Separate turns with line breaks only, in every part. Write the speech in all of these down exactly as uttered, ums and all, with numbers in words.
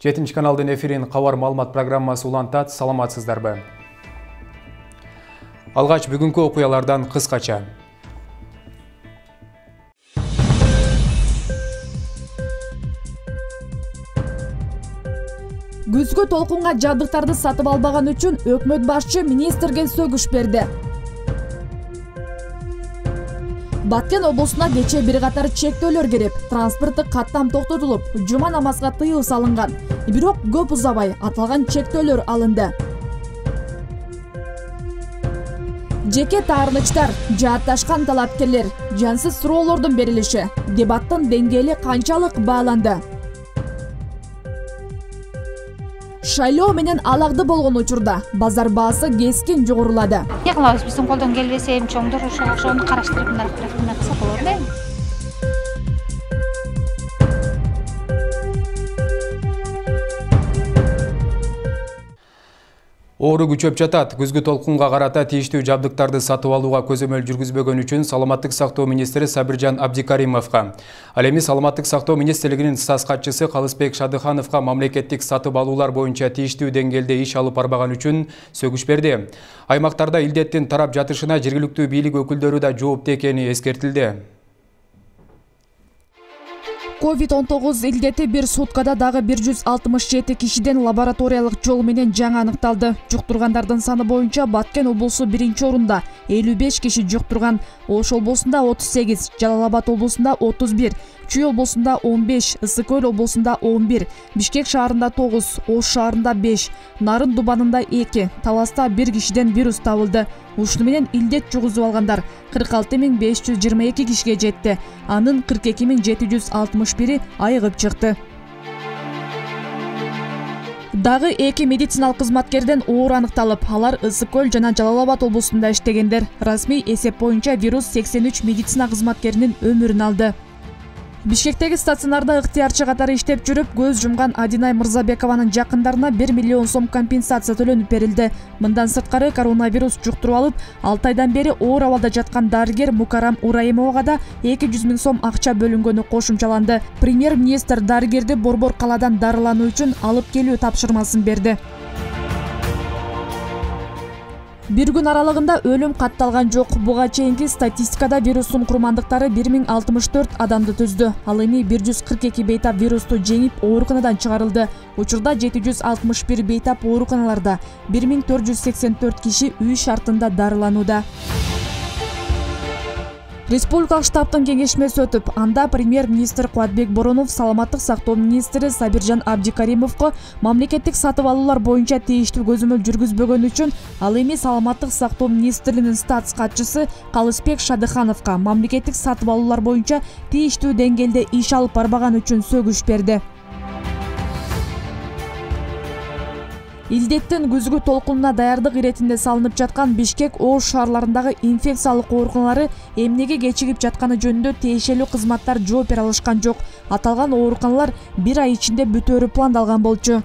жетинчи каналдын эфирин кабар маалымат программасы улантат. Саламатсыздарбы? Алгач бүгүнкү окуялардан кыскача.
Күзгү толкунга жабдыктарды сатып албаган үчүн өкмөт башчы министрге сөгүш берди. Баткен облусуна кечээ бир катар чектөөлөр кирип, транспорттук каттам токтотулуп, жума намазга тыюу салынган. Бирок көп узабай аталган чектөөлөр алынды. Жеке таарынычтар, жаатташкан талапкерлер, жансыз суроолордун берилиши, дебаттын деңгээли канчалык бааланды? Шайлоо менен алагды болгон учурда базар баасы кескин жогорулады.
Эмне кылабыз, биздин колдон келбесе эми чоңдор ошону караштырып мындай кылса болот да.
Оору күчөп жатат. Күзгү толкунга карата тийиштүү жабдыктарды сатып алууга көзөмөл жүргүзбөгөн үчүн Саламаттык сактоо министри Сабиржан Абдикаримовго, ал эми Саламаттык сактоо министрлигинин статс катчысы Калысбек Шадыхановго мамлекеттик сатып алуулар боюнча тийиштүү деңгээлде иш алып барбаган үчүн сөгүш берди. Аймактарда илдеттин тарап жатышына жергиликтүү бийлик өкүлдөрү да жооптуу экени эскертилди.
ковид он тогуз илдети бир суткада дагы бир жүз алтымыш жети кишиден лабораториялык жол менен жаңы аныкталды. Жуктургандардын саны боюнча Баткен облусу биринчи орунда элүү беш киши жуктурган. Ош облусунда отуз сегиз, Жалал Абад облусунда отуз бир, Чүй облусунда он беш, Ысык Көл облусунда он бир, Бишкек шаарында тогуз, Ош шаарында беш, Нарын Дубанында эки, Таласта бир кишиден вирус табылды. Ушуну менен илдет жугузуп алгандар кырк алты миң беш жүз жыйырма эки кишиге жетти. Анын кырк эки миң жети жүз алтымыш бири айыгып чыкты. Дагы эки медициналык кызматкерден оор аныкталып, алар Ысык Көл жана Жалал Абад облусунда иштегендер. Расмий эсеп боюнча вирус сексен үч медицина кызматкеринин өмүрүн алды. Бишкектеги стационарда ыктыярчы катары иштеп жүрүп, көз жумган Адинай Мырзабекованын жакындарына бир миллион сом компенсация төлөнүп берилди. Мындан сырткары коронавирус жуктуруп алып, алты айдан бери оор абалда жаткан дарыгер Мукарам Ураимовага да эки жүз миң сом акча бөлүнгөнү кошумчаланды. Премьер-министр дарыгерди Борбор калаадан дарылануу үчүн алып келүү тапшырмасын берди. Бир күн аралыгында өлүм катталган жок. Буга чейинки статистикада вирустун курмандыктары бир миң алтымыш төрт адамды түздү. Ал эми бир жүз кырк эки бейтап вирусту жеңип ооруканадан чыгарылды. Учурда жети жүз алтымыш бир бейтап ооруканаларда, бир миң төрт жүз сексен төрт киши үй шартында дарыланууда. Республикалык штабтын кеңешмеси өтүп, анда премьер-министр Кубатбек Боронов Саламаттык сактоо министри Сабиржан Абдикаримовго мамлекеттик сатып алуулар боюнча тийиштүү көзөмөл жүргүзбөгөн үчүн, ал эми Саламаттык сактоо министрлигинин статс катчысы Калысбек Шадыхановго мамлекеттик сатып алуулар боюнча тийиштүү деңгээлде иш алып барбаган үчүн сөгүш берди. Илдеттин күзгү толкунуна даярдык иретинде салынып жаткан Бишкек, Ош шаарларындагы инфекциялык ооруканалары эмнеге кечигип жатканы жөнүндө тиешелүү кызматтар жооп бере алышкан жок. Аталган ооруканалар бир ай ичинде бүтөөрү пландалган болчу.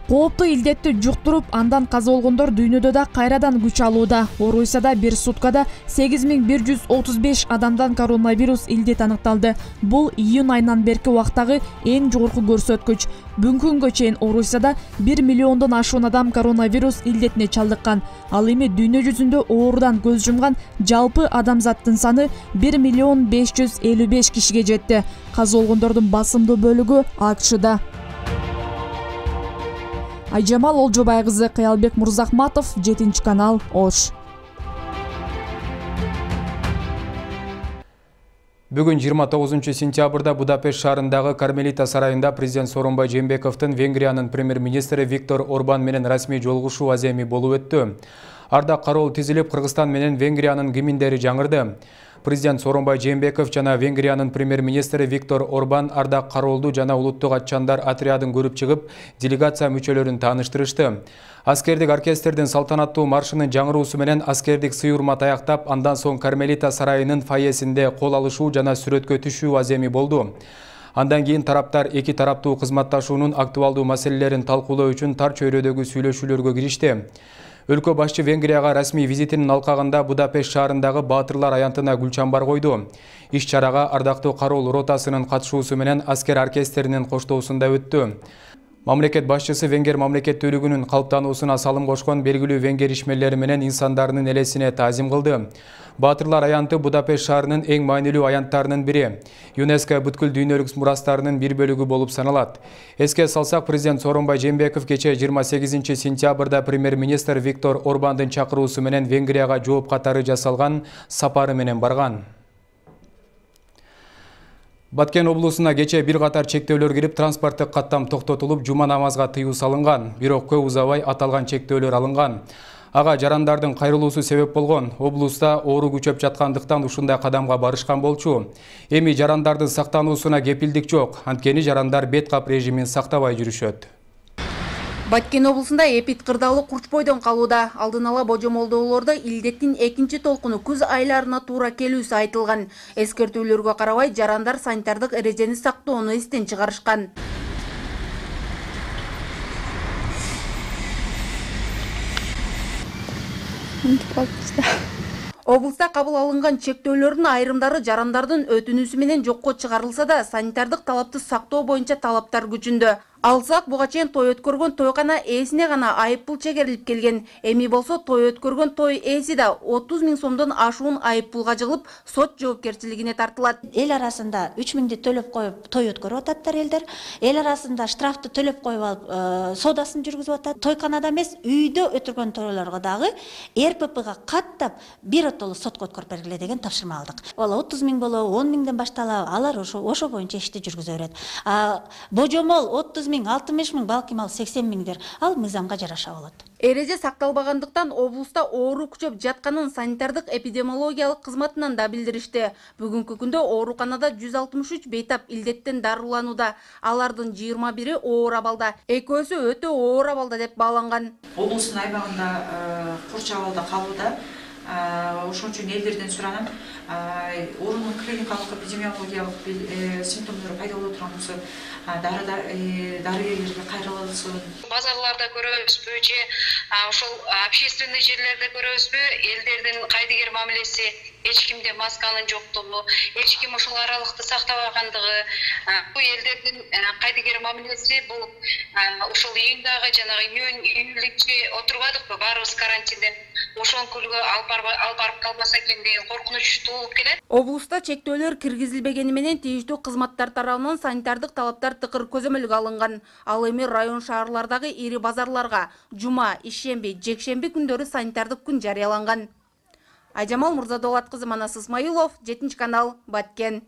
Кооптуу илдетти жуктуруп, андан каза болгондор дүйнөдө да кайрадан күч алууда. Орусияда бир суткада сегиз миң бир жүз отуз беш адамдан коронавирус илдет аныкталды. Бул июнь айынан берки убактагы эң жогорку көрсөткүч. Бүгүнкү күнгө чейин Орусияда бир миллиондон ашуун адам коронавирус илдетине чалдыккан. Ал эми дүйнө жүзүндө оорудан көз жумган жалпы адамзаттын саны бир миллион беш жүз элүү беш кишиге жетти. Каза болгондордун басымдуу бөлүгү АКШда. Айжамал Олжобай кызы, Кыялбек Мурзахматов, жетинчи канал, Ош.
Бүгүн жыйырма тогузунчу сентябрда Будапешт шаарындагы Кармелита сарайында президент Сооронбай Жээнбековдун Венгриянын премьер-министри Виктор Орбан менен расмий жолугушуу аземи болуп өттү. Ардак кароол тизилип, Кыргызстан менен Венгриянын гимндери жаңырды. Президент Сооронбай Жээнбеков жана Венгриянын премьер-министри Виктор Орбан ардак кароолду жана улуттук атчандар отрядын көрүп чыгып, делегация мүчөлөрүн тааныштырышты. Аскердик оркестрдин салтанаттуу маршынын жаңыруусу менен аскердик сый-урмат аяктап, андан соң Кармелита сарайынын фойесинде кол алышуу жана сүрөткө түшүү аземи болду. Андан кийин тараптар эки тараптуу кызматташуунун актуалдуу маселелерин талкуулоо үчүн тар чөйрөдөгү сүйлөшүүлөргө киришти. Өлкө башчы Венгрияга расмий визитинин алкагында Будапешт шаарындагы Баатырлар аянтына гүл чамбар койду. Иш чарага ардактуу кароол ротасынын катышуусу менен аскер оркестринин коштоосунда өттү. Мамлекет башчысы венгер мамлекеттүүлүгүнүн калыптануусуна салым кошкон белгилүү венгер ишмерлери менен инсандарынын элесине таазим кылды. Баатырлар аянты Будапешт шаарынын эң маанилүү аянттарынын бири. ЮНЕСКО бүткүл дүйнөлүк мурастарынын бир бөлүгү болуп саналат. Эске салсак, президент Сооронбай Жээнбеков кечээ жыйырма сегизинчи сентябрда премьер-министр Виктор Орбандын чакыруусу менен Венгрияга жооп катары жасалган сапары менен барган. Баткен облусуна кечээ бир катар чектөөлөр кирип, транспорттук каттам токтотулуп, жума намазга тыюу салынган. Бирок көп узабай аталган чектөөлөр алынган. Ага жарандардын кайрылуусу себеп болгон. Облуста оору күчөп жаткандыктан ушундай кадамга барышкан болчу. Эми жарандардын сактануусуна кепилдик жок. Анткени жарандар бет кап режимин сактабай жүрүшөт.
Баткен облусунда эпид кырдаалуу курч бойдон калууда. Алдын ала божомолдоолордо илдеттин экинчи толкуну күз айларына туура келүүсү айтылган. Эскертүүлөргө карабай, жарандар санитардык эрежени сактоону эстен чыгарышкан. Облуста кабыл алынган чектөөлөрдүн айрымдары жарандардын өтүнүүсү менен жокко чыгарылса да, санитардык талапты сактоо боюнча талаптар күчүндө. Алсак, буга чейин той өткөргөн тойкана ээсине гана айыппул чегерилип келген. Эми болсо той өткөргөн той ээси да отуз миң сомдон ашуун айыппулга жыгылып, сот жоопкерчилигине тартылат.
Эл арасында үч миңди төлөп коюп той өткөрүп ататтар элдер. Эл арасында штрафты төлөп коюп алып, соодасын жүргүзүп атат. Тойканада эмес, үйдө өткөргөн тойлорго дагы эр пэ пэга каттап бир отолу сотко өткөрүп бергиле деген тапшырма алдык. Ал отуз миң болобу, он миңден башталып, алар ошо ошо боюнча ишти жүргүзө берет. А божомол отуз миң, алтымыш миң, балким ал сексен миңдер. Ал мыйзамга жараша болот.
Эреже сакталбагандыктан облуста оору күчөп жатканын санитардык эпидемиологиялык кызматынан да билдиришти. Бүгүнкү күндө ооруканада жүз алтымыш үч бейтап илдеттен дарыланууда. Алардын жыйырма бири оор абалда, экөөсү өтө оор абалда деп бааланган.
Облустун аймагында курч абалда калууда. Ошон үчүн элдерден суранам, оорунун клиникалык эпидемиологиялык симптомдору пайда боло турган болсо дарыгерлерге кайрылсын.
Базарларда көрөбүзбү же ошол общественный жерлерде көрөбүзбү, элдердин кайдыгер мамилеси, эч кимде масканын жоктугу, эч ким ошол аралыкты сактабагандыгы, бул элдердин кайдыгер мамилеси бул ошол июндагы жанагы июнь июльче отурбадыкпы, баарыбыз карантинден ошон күлгө алып барып калбаса экен деген коркунуч туулуп келет.
Облуста чектөөлөр киргизилбегени менен тийиштүү кызматтар тарабынан санитардык талаптар тыкыр көзөмөлгө алынган. Ал эми район шаарлардагы ири базарларга жума, ишемби, жекшемби күндөрү санитардык күн жарыяланган. Айжамал Мурзадолат кызы, Манас Исмаилов, жетинчи канал, Баткен.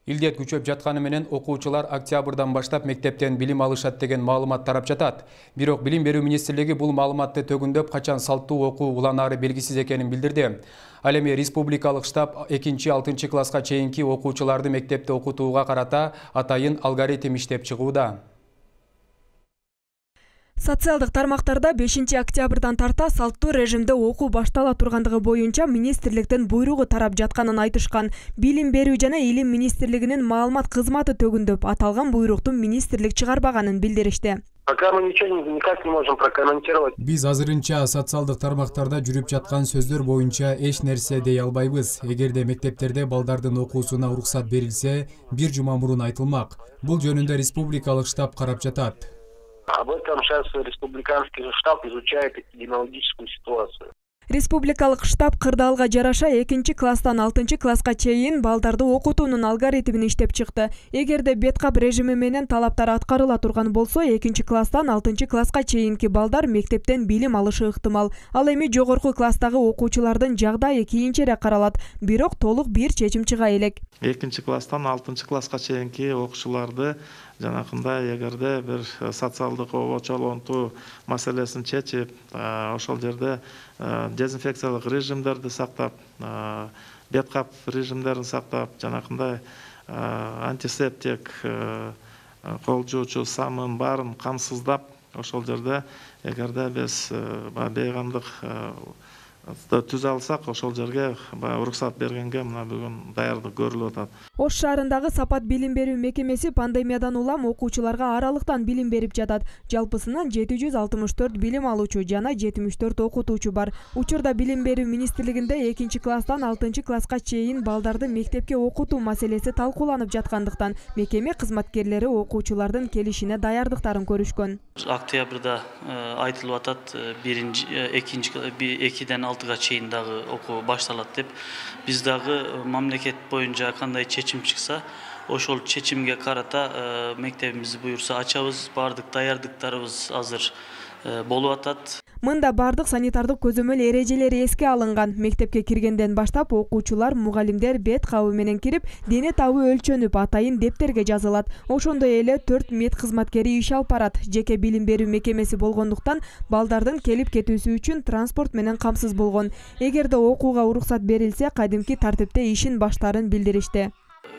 Илдет күчөп жатканы менен окуучулар октябрдан баштап мектептен билим алышат деген маалымат тарап жатат. Бирок Билим берүү министрлиги бул маалыматты төгүндөп, качан салттуу окуу уланаары белгисиз экенин билдирди. Ал эми республикалык штаб экинчи алтынчы класска чейинки окуучуларды мектепте окутууга карата атайын алгоритм иштеп чыгууда.
Социалдык тармактарда бешинчи октябрдан тарта салттуу режимде окуу баштала тургандыгы боюнча министрликтен буйругу тарап жатканын айтышкан. Билим берүү жана илим министрлигинин маалымат кызматы төгүндөп, аталган буйрукту министрлик чыгарбаганын билдиришти.
Пока мы ничего никак не можем прокомментировать.
Биз азырынча социалдык тармактарда жүрүп жаткан сөздөр боюнча эч нерсе дей албайбыз. Эгерде мектептерде балдардын окуусуна уруксат берилсе, бир жума мурун айтылмак. Бул жөнүндө республикалык штаб карап жатат.
Об этом сейчас республиканский штаб изучает эпидемиологическую ситуацию.
Республикалык штаб кырдаалга жараша экинчи класстан алтынчы класска чейин балдарды окутуунун алгоритмин иштеп чыкты. Эгерде беткап режими менен талаптар аткарыла турган болсо, экинчи класстан алтынчы класска чейинки балдар мектептен билим алышы ыктымал. Ал эми жогорку класстагы окуучулардын жагдайы кийинчерээк каралат, бирок толук бир чечим чыга элек.
экинчи класстан алтынчы класска чейинки окуучуларды жанакындай эгерде бир социалдык обочолонтуу маселесин чечип, ошол жерде дезинфекциялык режимдерди сактап, беткап режимдерин сактап, жанакындай антисептик, кол жуучу самын баарын камсыздап, ошол жерде эгерде биз бейгамдык түзө алсак ошол жерге баягы уруксат бергенге мына бүгүн даярдык көрүлүп атат.
Ош шаарындагы Сапат билим берүү мекемеси пандемиядан улам окуучуларга аралыктан билим берип жатат. Жалпысынан жети жүз алтымыш төрт билим алуучу жана жетимиш төрт окутуучу бар. Учурда билим берүү министрлигинде экинчи класстан алтынчы класска чейин балдарды мектепке окутуу маселеси талкууланып жаткандыктан мекеме кызматкерлери окуучулардын келишине даярдыктарын көрүшкөн.
Октябрда айтылып атат биринчи экинчи экиден алтыга чейин дагы окуу башталат деп. Биз дагы мамлекет боюнча кандай чечим чыкса, ошол чечимге карата мектебибизди буюрса ачабыз. Бардык даярдыктарыбыз азыр болуп атат.
Мында бардык санитардык көзөмөл эрежелери эске алынган. Мектепке киргенден баштап окуучулар, мугалимдер бет кабы менен кирип, дене табы өлчөнүп, атайын дептерге жазылат. Ошондой эле төрт мед кызматкери иш алып барат. Жеке билим берүү мекемеси болгондуктан балдардын келип кетүүсү үчүн транспорт менен камсыз болгон. Эгерде окууга уруксат берилсе, кадимки тартипте ишин баштаарын билдиришти.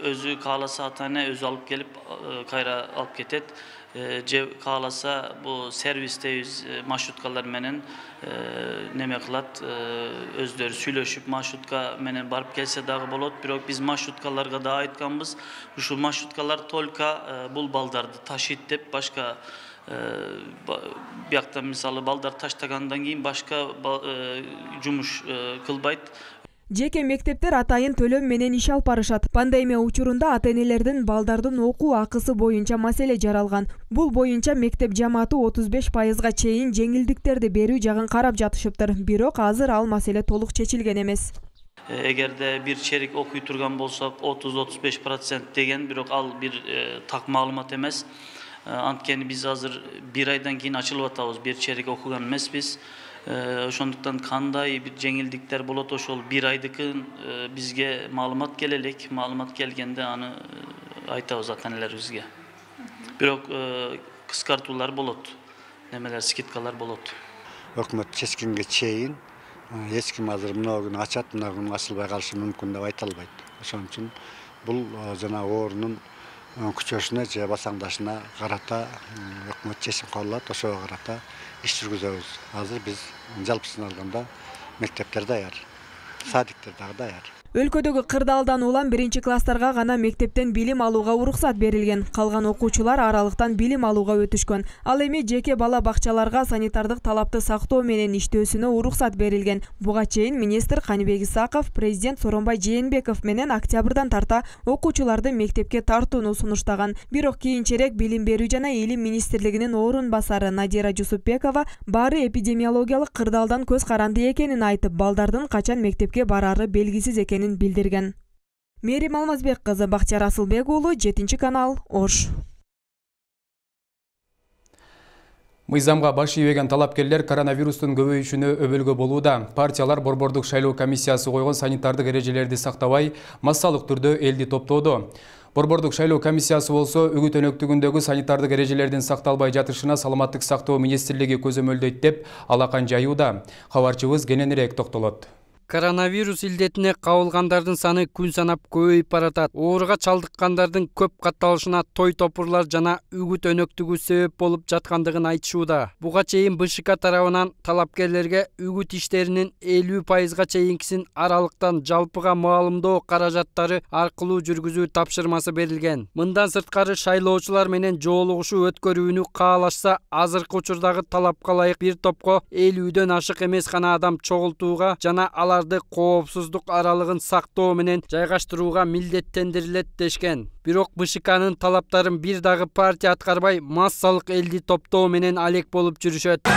Өзү кааласа ата-эне өзү алып келип, кайра алып кетет. Же кааласа бу сервистебиз маршруткалар менен неме кылат, өздөрү сүйлөшүп маршрутка менен барып келсе дагы болот. Бирок биз маршруткаларга да айтканбыз, ушул маршруткалар только бул балдарды ташыйт деп, башка биякта мисалы балдар таштагандан кийин башка жумуш кылбайт.
Жеке мектептер атайын төлөм менен иш алып барышат. Пандемия учурунда ата-энелердин балдардын окуу акысы боюнча маселе жаралган. Бул боюнча мектеп жамааты отуз беш пайызга чейин жеңилдиктерди берүү жагын карап жатышыптыр. Бирок азыр ал маселе толук чечилген эмес.
Эгерде бир черик окуй турган болсок, отуз отуз беш процент деген, бирок ал бир так маалымат эмес. Анткени биз азыр бир айдан кийин ачылып атабыз, бир черик окуган эмеспиз. Ошондуктан кандай бир жеңилдиктер болот, ошол бир айдыкын бизге маалымат келе элек. Маалымат келгенде аны айтабыз ата-энелерибизге. Бирок кыскартуулар болот, немелер, скидкалар болот.
Өкмөт чечкенге чейин эч ким азыр мына күнү ачат, мына күнү ачылбай калышы мүмкүн деп айта албайт. Ошон үчүн бул жана оорунун күчөшүнө же басаңдашына карата өкмөт чечим кабыл алат, ошого карата иш жүргүзөбүз. Азыр биз жалпысын алганда мектептер даяр, садиктер дагы даяр.
Өлкөдөгү кырдаалдан улам биринчи класстарга гана мектептен билим алууга уруксат берилген. Калган окуучулар аралыктан билим алууга өтүшкөн. Ал эми жеке бала бакчаларга санитардык талапты сактоо менен иштөөсүнө уруксат берилген. Буга чейин министр Каныбек Исаков президент Сооронбай Жээнбеков менен октябрдан тарта окуучуларды мектепке тартууну сунуштаган. Бирок кийинчерээк билим берүү жана илим министрлигинин орун басары Надира Жусупбекова баары эпидемиологиялык кырдаалдан көз каранды экенин айтып, балдардын качан мектепке барары белгисиз экенин билдирген. Мерим Алмазбек кызы, Бакчар Асылбек уулу, жетинчи канал, Ош.
Мыйзамга баш ийбеген талапкерлер коронавирустун көбөйүшүнө өбөлгө болууда. Партиялар борбордук шайлоо комиссиясы койгон санитардык эрежелерди сактабай, массалык түрдө элди топтоодо. Борбордук шайлоо комиссиясы болсо үгүт өнөктүгүндөгү санитардык эрежелердин сакталбай жатышына саламаттык сактоо министрлиги көзөмөлдөйт деп алакан жаюуда. Кабарчыбыз кененирээк токтолот.
Коронавирус илдетине кабылгандардын саны күн санап көбөйүп баратат. Ооруга чалдыккандардын көп катталышына той топурлар жана үгүт өнөктүгү себеп болуп жаткандыгын айтышууда. Буга чейин БШК тарабынан талапкерлерге үгүт иштеринин элүү пайызга чейинкисин аралыктан жалпыга маалымдоо каражаттары аркылуу жүргүзүү тапшырмасы берилген. Мындан сырткары шайлоочулар менен жолугушуу өткөрүүнү каалашса, азыркы учурдагы талапка ылайык бир топко элүүдөн ашык эмес гана адам чогултууга жана аларды коопсуздук аралыгын сактоо менен жайгаштырууга милдеттендирилет дешкен. Бирок БШКнын талаптарын бир дагы партия аткарбай, массалык элди топтоо менен алек болуп жүрүшөт.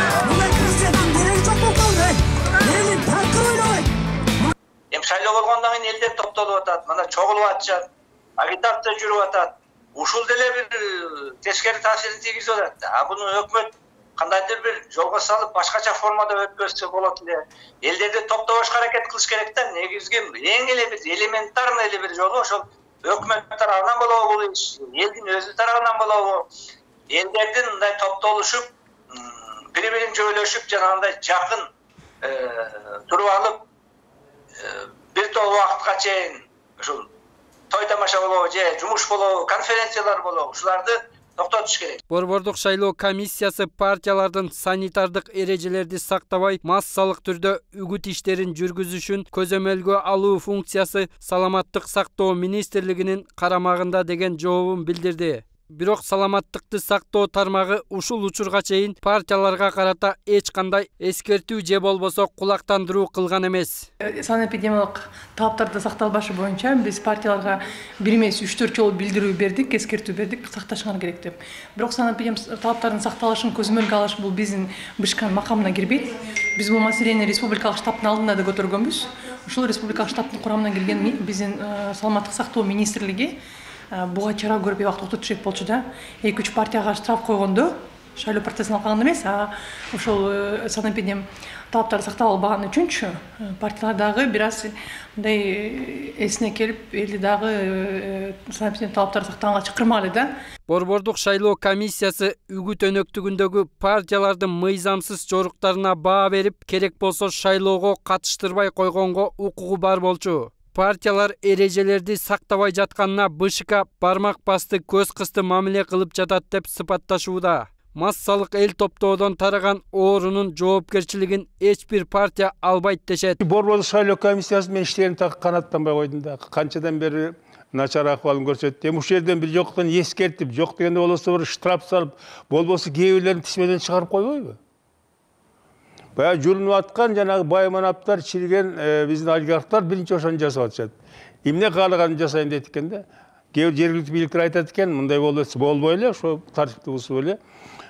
Эми шайлоо болгондон кийин элдер топтолуп атат, мына чогулуп атышат, агитация жүрүп атат. Ушул деле бир тескери таасирин тийгизип атат. А буну өкмөт кандайдыр бир жолго салып, башкача формада өткөзсө болот эле. Элдерди топтобошко аракет кылыш керек да. Негизги эң эле бир элементарный эле бир жолу ошол өкмөт тарабынан болобу бул иш, элдин өзү тарабынан болобу, элдердин мындай топтолушуп, бири-бирин жойлошуп, жанагындай жакын туруп алып, бир топ убакытка чейин ушул той тамаша болобу же жумуш болобу, конференциялар болобу, ушуларды токтотуш керек.
Борбордук шайлоо комиссиясы партиялардын санитардык эрежелерди сактабай массалык түрдө үгүт иштерин жүргүзүшүн көзөмөлгө алуу функциясы Саламаттык сактоо министрлигинин карамагында деген жообун билдирди. Бирок саламаттыкты сактоо тармагы ушул учурга чейин партияларга карата эч кандай эскертүү же болбосо кулактандыруу кылган эмес.
Санэпидемиялык талаптарды сакталбашы боюнча биз партияларга бир эмес үч төрт жолу билдирүү бердик, эскертүү бердик, сакташыңар керек деп. Бирок санэпидемиялык талаптардын сакталышын көзөмөлгө алыш бул биздин БШКнын макамына кирбейт. Биз бул маселени республикалык штабтын алдында да көтөргөнбүз. Ушул республикалык штабтын курамына кирген биздин саламаттык сактоо министрлиги буга чара көрүп убакыт токтотуш керек болчу да. эки үч партияга штраф койгондо шайлоо процессин алкаганда эмес, а ошол санэпидем талаптарды сактап албаган үчүнчү партиялар дагы бир аз мындай эсине келип, элди дагы санэпидем талаптарды сактаганга чакырмагыла да.
Борбордук шайлоо комиссиясы үгүт өнөктүгүндөгү партиялардын мыйзамсыз жоруктарына баа берип, керек болсо шайлоого катыштырбай койгонго укугу бар болчу. Партиялар эрежелерди сактабай жатканына БШК бармак басты, көз кысты мамиле кылып жатат деп сыпатташууда. Массалык эл топтоодон тараган оорунун жоопкерчилигин эч бир партия албайт дешет.
Борбордук шайлоо комиссиясы мен иштерин так канаттанбай койдум да. Канчадан бери начар акыбалын көрсөттү. Эми ушул жерден бир жоктон эскертип, жок дегенде болосо бир штраф салып, болбосо кээ бирлерин тизмеден чыгарып койбойбу? Баягы жүрүнүп аткан жанагы бай манаптар, чирген биздин олигархтар биринчи ошону жасап атышат. Эмне каалаганын жасайм дейт экен да. Кээ бир жергиликтүү бийликтер айтат экен, мындай болот болбой эле, ошо тартипти бузуп эле.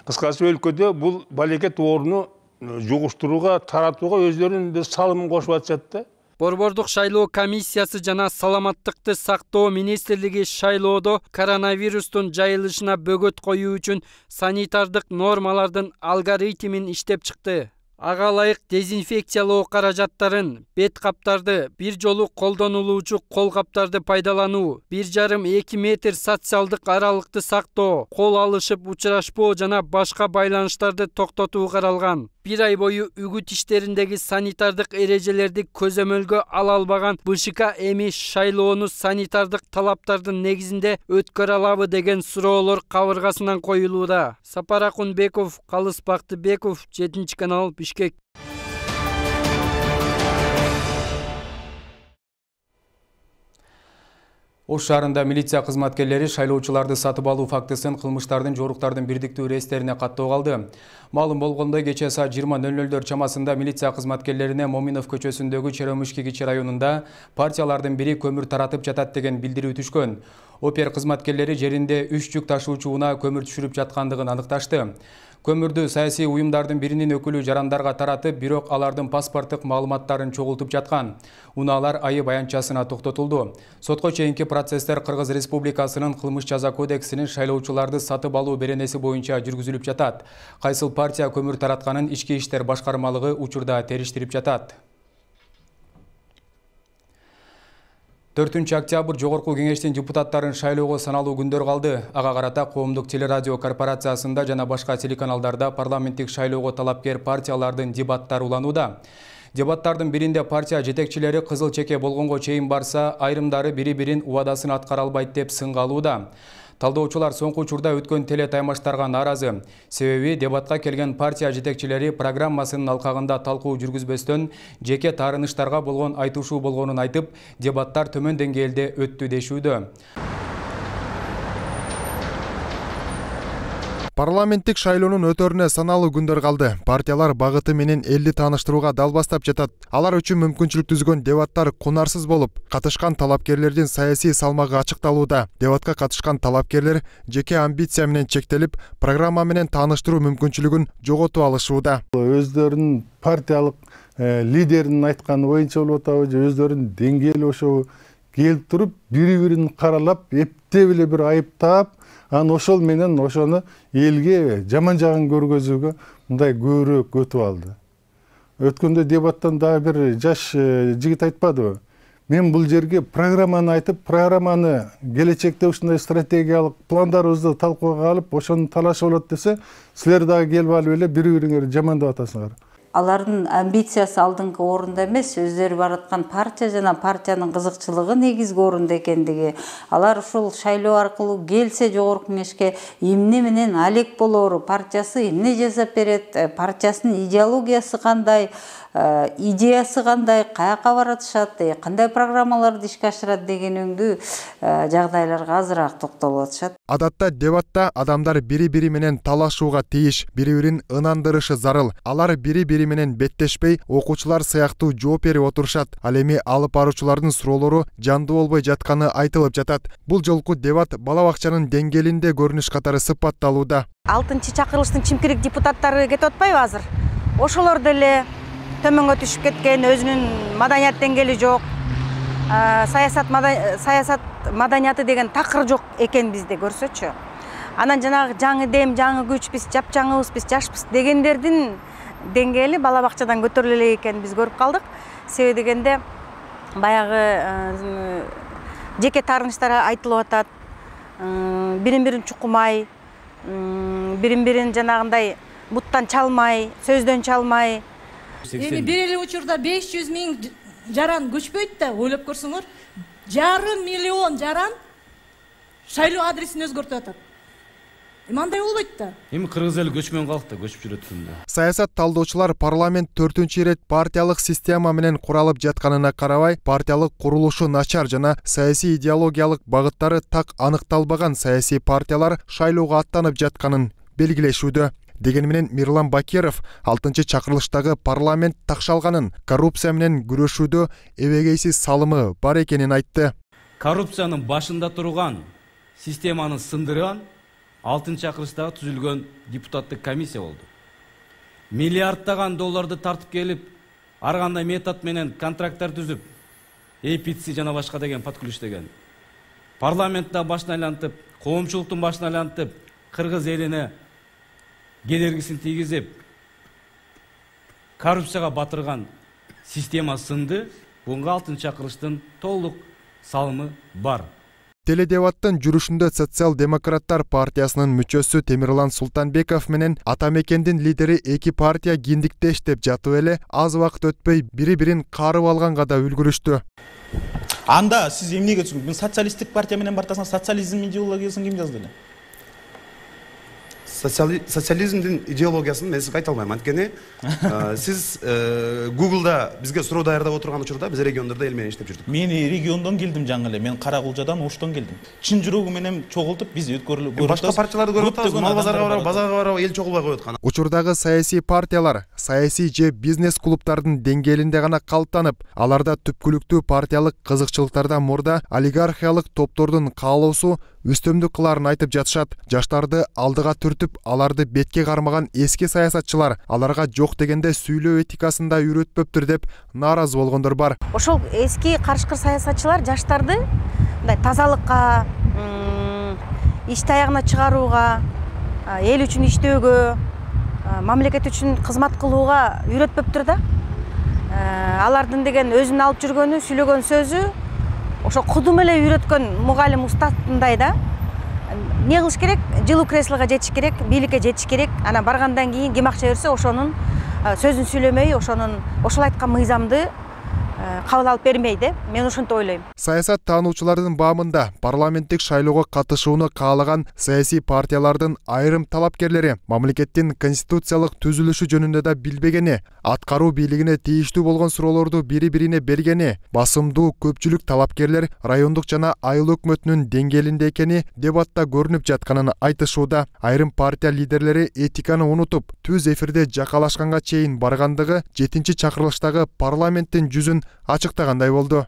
Кыскасы өлкөдө бул балекет ооруну жугуштурууга, таратууга өздөрүнүн салымын кошуп атышат да.
Борбордук шайлоо комиссиясы жана саламаттыкты сактоо министрлиги шайлоодо коронавирустун жайылышына бөгөт коюу үчүн санитардык нормалардын алгоритмин иштеп чыкты. Ага ылайык дезинфекциялоо каражаттарын, бет каптарды, бир жолу колдонулуучу кол каптарды пайдалануу, бир жарым эки метр социалдык аралыкты сактоо, кол алышып учурашпоо жана башка байланыштарды токтотуу каралган. Бир ай бою үгүт иштериндеги санитардык эрежелерди көзөмөлгө ала албаган БШК эми шайлоону санитардык талаптардын негизинде өткөрө алабы деген суроолор кабыргасынан коюлууда. Сапар Акунбеков, Калыс Бактыбеков, жетинчи канал, Бишкек.
Ош шаарында милиция кызматкерлери шайлоочуларды сатып алуу фактысын кылмыштардын жоруктардын бирдиктүү реестрине каттоо калды. Маалым болгондой, кечээ саат жыйырма нөл нөлдөр чамасында милиция кызматкерлерине Моминов көчөсүндөгү Черемушки кичи районунда партиялардын бири көмүр таратып жатат деген билдирүү түшкөн. Опер кызматкерлери жеринде үч жүк ташуучу унаа көмүр түшүрүп жаткандыгын аныкташты. Көмүрдү саясий уюмдардын биринин өкүлү жарандарга таратып, бирок алардын паспорттук маалыматтарын чогултуп жаткан. Унаалар айып аянтчасына токтотулду. Сотко чейинки процесстер Кыргыз Республикасынын кылмыш жаза кодексинин шайлоочуларды сатып алуу беренеси боюнча жүргүзүлүп жатат. Кайсыл партия көмүр таратканын ички иштер башкармалыгы учурда териштирип жатат. төртүнчү октябрь Жогорку кеңештин депутаттарын шайлоого саналуу күндөр калды. Ага карата Коомдук телерадио корпорациясында жана башка телеканалдарда парламенттик шайлоого талапкер партиялардын дебаттары уланууда. Дебаттардын биринде партия жетекчилери кызыл чеке болгонго чейин барса, айрымдары бири-бирин убадасын аткара албайт деп сынга алууда. Талдоочулар соңку учурда өткөн теле таймаштарга нааразы. Себеби дебатка келген партия жетекчилери программасынын алкагында талкуу жүргүзбөстөн жеке таарыныштарга болгон айтышуу болгонун айтып, дебаттар төмөн деңгээлде өттү дешүүдө.
Парламенттик шайлоонун өтөрүнө саналуу күндөр калды. Партиялар багыты менен элди тааныштырууга дал бастап жатат. Алар үчүн мүмкүнчүлүк түзгөн дебаттар кунарсыз болуп, катышкан талапкерлердин саясий салмагы ачыкталууда. Дебатка катышкан талапкерлер жеке амбиция менен чектелип, программа менен тааныштыруу мүмкүнчүлүгүн жоготуп алышууда.
Өздөрүнүн партиялык лидеринин айтканы боюнча болуп атабы, же өздөрүнүн деңгээли ошо келип туруп, бири-бирин каралап, эптеп эле бир айыптап, ан ошол менен ошону элге жаман жагын көргөзүүгө мындай көбүрөөк өтүп алды. Өткөндө дебаттан дагы бир жаш жигит айтпадыбы? Мен бул жерге программаны айтып, программаны келечекте ушундай стратегиялык пландарыбызды талкууга алып, ошону талашып болот десе, силер дагы келип алып эле бири-бириңерди жамандап атасыңар.
алардын амбициясы алдыңкы орунда эмес, өздөрү бараткан партия жана партиянын кызыкчылыгы негизги орунда экендиги, алар ушул шайлоо аркылуу келсе жогорку кеңешке эмне менен алек болору, партиясы эмне жасап берет, партиясынын идеологиясы кандай, идеясы кандай, каяка баратышат, кандай программаларды ишке ашырат деген өңдүү жагдайларга азыраак токтолуп атышат.
Адатта дебатта адамдар бири-бири менен талашууга тийиш, бири-бирин ынандырышы зарыл. Алар бири-бири менен беттешпей, окуучулар сыяктуу жооп берип отурушат. Ал эми алып баруучулардын суроолору жандуу болбой жатканы айтылып жатат. Бул жолку дебат бала бакчанын деңгээлинде көрүнүш катары сыпатталууда.
алтынчы чакырылыштын чимкирик депутаттары кетип атпайбы азыр? Ошолор деле төмөнгө түшүп кеткен, өзүнүн маданият деңгээли жок, саясат саясат маданияты деген такыр жок экен бизде көрсөчү. Анан жанагы жаңы дем, жаңы күч, биз жапжаңыбыз, биз жашпыз дегендердин деңгээли бала бакчадан көтөрүлө элек экенин биз көрүп калдык. Себеби дегенде баягы жеке таарынычтар айтылып атат, бирин-бирин чукумай, бирин-бирин жанагындай буттан чалмай, сөздөн чалмай.
Эми бир эле учурда беш жүз миң жаран көчпөйт да, ойлоп көрсөңөр, жарым миллион жаран шайлоо адресин өзгөртүп атат. Эми андай болбойт да.
Эми кыргыз эли көчмөн калкты, көчүп жүрөт да.
Саясат талдоочулар парламент төртүнчү ирет партиялык система менен куралып жатканына карабай, партиялык курулушу начар жана саясий идеологиялык багыттары так аныкталбаган саясий партиялар шайлоого аттанып жатканын белгилешүүдө. Деген менен Мирлан Бакиров алтынчы чакырылыштагы парламент такшалганын, коррупция менен күрөшүүдө эбегейсиз салымы бар экенин айтты.
Коррупциянын башында турган системаны сындырган алтынчы чакырылыштагы түзүлгөн депутаттык комиссия болду. Миллиарддаган долларды тартып келип, ар кандай метод менен контракттар түзүп, эй пи си жана башка деген подкулуш деген. Парламентте башын айлантып, коомчулуктун башын айлантып, кыргыз элине кедергисин тийгизип, коррупцияга батырган система сынды. Буга алтынчы чакырылыштын толук салымы бар.
Теледебаттын жүрүшүндө Социал-демократтар партиясынын мүчөсү Темирлан Султанбеков менен ата мекендин лидери эки партия киндиктеш деп жатып эле аз убакыт өтпөй бири-бирин карып алганга да үлгүрүштү.
Анда сиз эмнеге түшүндүңүз? Социалисттик партия менен бартасыңар, социализм идеологиясын ким жазды эле?
Социализмдин идеологиясын мен сизге айта албайм. Анткени сиз Google'да бизге суроо даярдап отурган учурда биз региондордо эл менен иштеп жүрдүк.
Мен региондон келдим жаңы эле. Мен Каракулжадан, Оштон келдим. Чын жүрөгү менен чогултуп биз өткөрүлүп
башка партияларды көрүп атабыз. Мал базарга барабы, базарга барабы, эл чогулбай коет кана.
Учурдагы саясий партиялар саясий же бизнес клубтардын деңгээлинде гана калыптанып, аларда түпкүлүктүү партиялык кызыкчылыктардан мурда олигархиялык топтордун каалоосу үстөмдүк кыларын айтып жатышат. Жаштарды алдыга түртүп, аларды бетке кармаган эски саясатчылар аларга жок дегенде сүйлөө этикасында үйрөтпөптүр деп нааразы болгондор бар.
Ошол эски карышкыр саясатчылар жаштарды мындай тазалыкка, иш таягына чыгарууга, эл үчүн иштөөгө, мамлекет үчүн кызмат кылууга үйрөтпөптүр да. Алардын деген өзүнүн алып жүргөнү, сүйлөгөн сөзү ошо кудум эле үйрөткөн мугалим устатындай да. Не кылыш керек? Жылуу креслого жетиш керек, бийликке жетиш керек. Анан баргандан кийин ким акча берсе, ошонун сөзүн сүйлөмөй, ошонун ошол айткан мыйзамды кабыл алып бермейди. Мен ошентип ойлойм.
Саясат таануучулардын баамында парламенттик шайлоого катышууну каалаган саясий партиялардын айрым талапкерлери мамлекеттин конституциялык түзүлүшү жөнүндө да билбегени, аткаруу бийлигине тийиштүү болгон суроолорду бири-бирине бергени, басымдуу көпчүлүк талапкерлер райондук жана айыл өкмөтүнүн деңгээлинде экени дебатта көрүнүп жатканын айтышууда. Айрым партия лидерлери этиканы унутуп, түз эфирде жакалашканга чейин баргандыгы жетинчи чакырылыштагы парламенттин жүзүн ачыктагандай болду.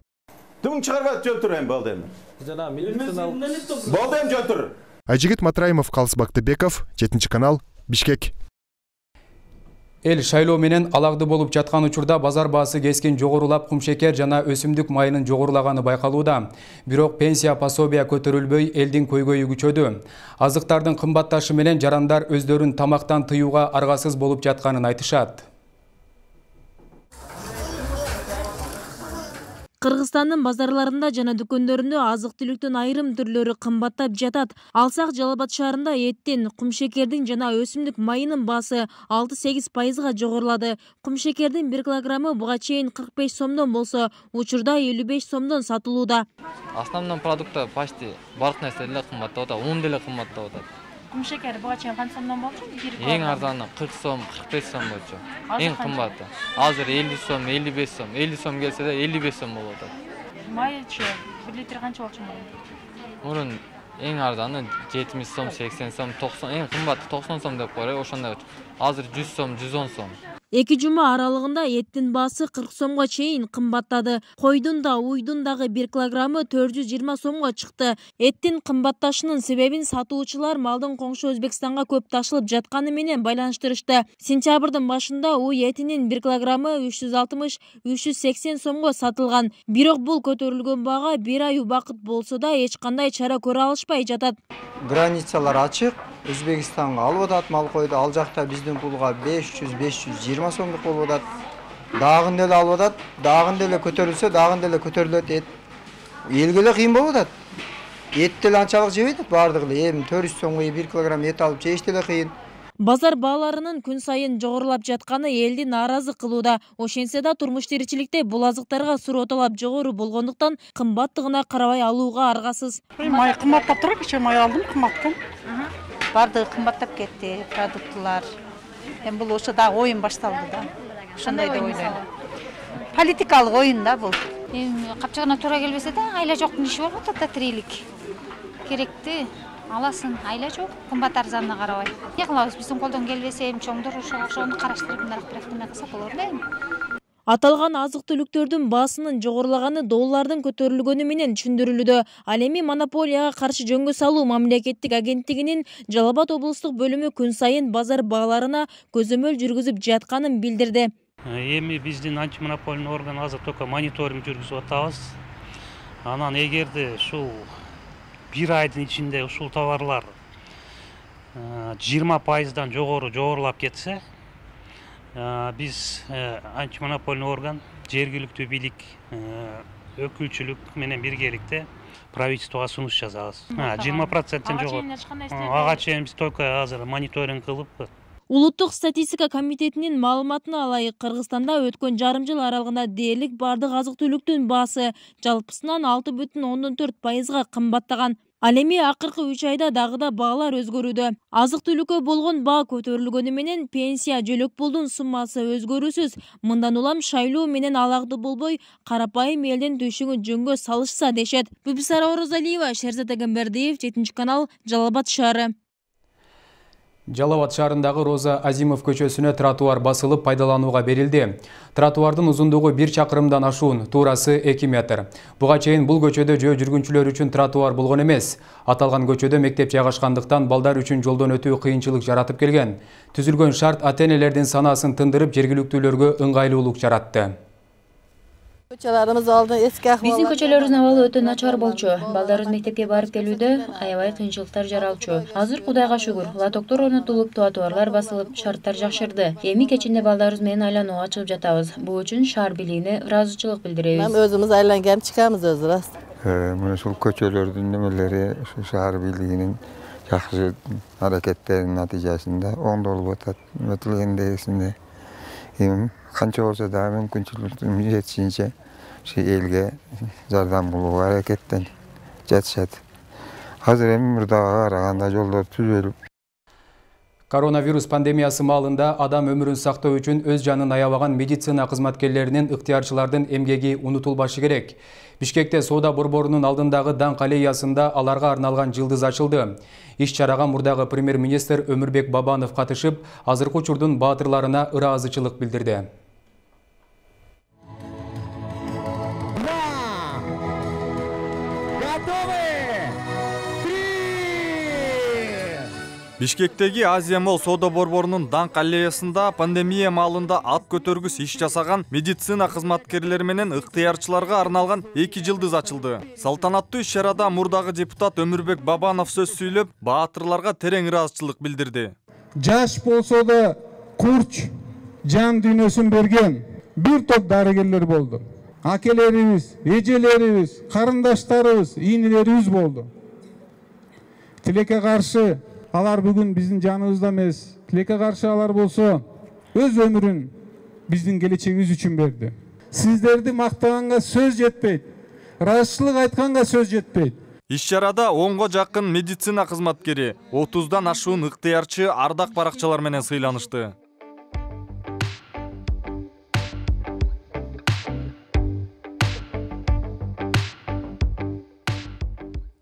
Тüm çıkarma jöltüreyim Baldem. Baldem jöltür.
Айжигит Матраимов, Калыс Бактыбеков, жетинчи канал, Бишкек.
Эл шайлоо менен алagды болуп жаткан учурда базар баасы кескин жогорулап, кумшекер жана өсүмдүк майынын жогорулаганы байкалууда. Бирок пенсия пособия көтөрүлбөй, элдин көйгөйү күчөдү. Азыктардын кымбатташы менен жарандар өздөрүн тамактан тыюуга аргасыз болуп жатканын айтышат.
Кыргызстандын базарларында жана дүкөндөрүндө азык-түлүктүн айрым түрлөрү кымбаттап жатат. Алсак Жалал Абад шаарында эттин, кумшекердин жана өсүмдүк майынын баасы алты-сегиз пайызга жогорулады. Кумшекердин бир килограммы буга чейин кырк беш сомдон болсо, учурда элүү беш сомдон сатылууда.
Основной продукты почти барлык нерсе деле кымбаттап атат, ун деле кымбаттап атат.
Кумшекер буга чейин канча сомдон болчу?
Эң арзаны кырк сом, кырк беш сом болчу. Эң кымбаты азыр элүү сом, элүү беш сом. элүү сом келсе да элүү беш сом болуп атат.
Майчы бир литр канча болчу май?
Мурун эң арзаны жетимиш сом, сексен сом, токсон, эң кымбаты токсон сом деп коелу, ошондой. Азыр жүз сом, жүз он сом.
Эки жума аралыгында эттин баасы кырк сомго чейин кымбаттады. Койдун да, уйдун дагы бир килограммы төрт жүз жыйырма сомго чыкты. Эттин кымбатташынын себебин сатуучулар малдын коңшу Өзбекстанга көп ташылып жатканы менен байланыштырышты. Сентябрдын башында уй этинин бир килограммы үч жүз алтымыш — үч жүз сексен сомго сатылган. Бирок бул көтөрүлгөн бага бир ай убакыт болсо да эч кандай чара көрө алышпай жатат.
Границалар ачык. Өзбекстанга алып атат мал койду. Ал жакта биздин пулга беш жүз — беш жүз жыйырма сомдук болуп атат. Дагын деле алып атат. Дагын деле көтөрүлсө, дагын деле көтөрүлөт. Эт элге эле кыйын болуп атат. Эт деле анчалык жебейт бардыгы эле. Эми төрт жүз сомго бир килограмм эт алып жеш деле кыйын.
Базар бааларынын күн сайын жогорулап жатканы элди нааразы кылууда. Ошентсе да турмуш тиричиликте бул азыктарга суроо талап жогору болгондуктан кымбаттыгына карабай алууга аргасыз.
Май кымбаттап турат, кечээ май алдым кымбаттан.
Бардыгы кымбаттап кетти, продуктылар. Эми бул ошо дагы оюн башталды да. Ошондой деп ойлойм. Политикалык оюн да бул. Эми капчыгына туура келбесе да, айла жоктун иши болуп атат да, тирилик. Керекти аласың, айла жок, кымбат арзанына карабай. Эмне кылабыз, биздин колдон келбесе, эми чоңдор ошону караштырып, мындай бирок неме кылса болор да эми.
Аталган азык-түлүктөрдүн баасынын жогорулаганы доллардын көтөрүлгөнү менен түшүндүрүлүүдө. Ал эми монополияга каршы жөнгө салуу мамлекеттик агенттигинин Жалал Абад облустук бөлүмү күн сайын базар бааларына көзөмөл жүргүзүп жатканын билдирди.
Эми биздин антимонопольный орган азыр только мониторинг жүргүзүп атабыз. Анан эгерде ушул бир айдын ичинде ушул товарлар жыйырма пайыздан жогору жогорулап кетсе, биз антимонопольный орган, жергиликтүү бийлик, өкүлчүлүк менен биргеликте правительствого сунуш жазабыз. жыйырма проценттен жогору. Ага чейин биз только азыр мониторинг кылып.
Улуттук статистика комитетинин маалыматына алайык, Кыргызстанда өткөн жарым жыл аралыгында дээрлик бардык азык-түлүктүн баасы жалпысынан алты бүтүн ондон төрт пайызга кымбаттаган. Ал эми акыркы үч айда дагы да баалар өзгөрүүдө. Азык-түлүккө болгон баа көтөрүлгөнү менен пенсия, жөлөк пулдун суммасы өзгөрүүсүз. Мындан улам шайлоо менен алагды болбой, карапайым элдин төшүгүн жөнгө салышса дешет. Бүбүсара Орозалиева, Шерзат Эгембердиев, жетинчи канал, Жалал Абад шаары.
Жалал Абад шаарындагы Роза Азимов көчөсүнө тротуар басылып пайдаланууга берилди. Тротуардын узундугу бир чакырымдан ашуун, туурасы эки метр. Буга чейин бул көчөдө жөө жүргүнчүлөр үчүн тротуар болгон эмес. Аталган көчөдө мектеп жайгашкандыктан балдар үчүн жолдон өтүү кыйынчылык жаратып келген. Түзүлгөн шарт ата-энелердин санаасын тындырып, жергиликтүүлөргө ыңгайлуулук жаратты.
Көчөлөрүбүз алды эски акыбал.
Биздин көчөлөрүбүздүн абалы өтө начар болчу. Балдарыбыз мектепке барып келүүдө аябай кыйынчылыктар жаралчу. Азыр Кудайга шүгүр, лотоктор орнотулуп, тротуарлар басылып, шарттар жакшырды. Эми кечинде балдарыбыз менен айланууга чыгып жатабыз. Бул үчүн шаар бийлигине ыраазычылык билдиребиз.
Мен өзүбүз айланган чыгабыз өзү раст.
Мына ушул көчөлөрдүн немелери ушу шаар бийлигинин жакшы аракеттеринин натыйжасында оңдолуп атат. Өтүлгендегисинде эми канча болсо да мүмкүнчүлүктүн жетишинче ушу элге жардам кылууга аракеттен жатышат. Азыр эми мурдага караганда жолдор түзөлүп.
Коронавирус пандемиясы маалында адам өмүрүн сактоо үчүн өз жанын аябаган медицина кызматкерлеринин, ыктыярчылардын эмгеги унутулбашы керек. Бишкекте соода борборунун алдындагы даңк аллеясында аларга арналган жылдыз ачылды. Иш чарага мурдагы премьер-министр Өмүрбек Бабанов катышып, азыркы учурдун баатырларына ыраазычылык билдирди.
Бишкектеги Азия Молл соода борборунун даңк аллеясында пандемия маалында ат көтөргүс иш жасаган медицина кызматкерлери менен ыктыярчыларга арналган эки жылдыз ачылды. Салтанаттуу иш чарада мурдагы депутат Өмүрбек Бабанов сөз сүйлөп, баатырларга терең ыраазычылык билдирди.
Жаш болсо да курч жан дүйнөсүн берген бир топ дарыгерлер болду.
акелерибиз, эжелерибиз, карындаштарыбыз, ийнелерибиз болду. Тилекке каршы алар бүгүн биздин жаныбызда эмес. Тилекке каршы алар болсо өз өмүрүн биздин келечегибиз үчүн берди. Сиздерди мактаганга сөз жетпейт. Ыраазычылык айтканга сөз жетпейт.
Иш-чарада онго жакын медицина кызматкери, отуздан ашуун ыктыярчы ардак баракчалар менен сыйланышты.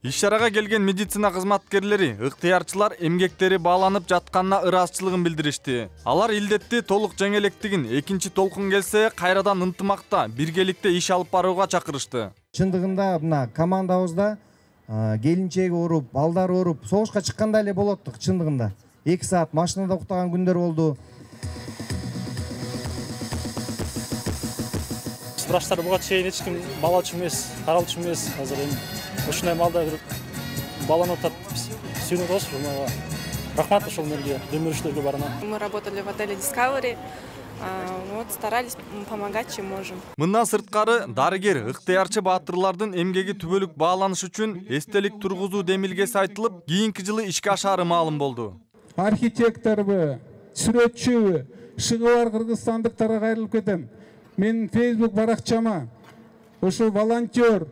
Иш-чарага келген медицина кызматкерлери ыктыярчылар эмгектери бааланып жатканына ыраазычылыгын билдиришти. Алар илдетти толук жеңелектигин экинчи толкун келсе кайрадан ынтымакта, биргеликте иш алып барууга чакырышты.
Чындыгында мына командабызда келинчеги ооруп, балдар ооруп, согушка чыккандай эле болоттук чындыгында. эки саат машинада уктаган күндөр болду.
Врачтар буга чейин эч ким бала үчүн эмес, каралчу эмес. Азыр эми ушундай маалда бир баланы атат сүйүнүп атабыз. Мага рахмат ошол менге демириштерге барына.
Мы работали в отеле Discovery. Вот старались помогать, чем можем.
Мындан сырткары дарыгер ыктыярчы баатырлардын эмгеги түбөлүк бааланыш үчүн эстелик тургузуу демилгеси айтылып, кийинки жылы ишке ашаары маалым болду.
Архитекторбу, сүрөтчүбү, шыгы бар кыргызстандыктарга кайрылып кетем. Мен Facebook баракчама ошо волонтер,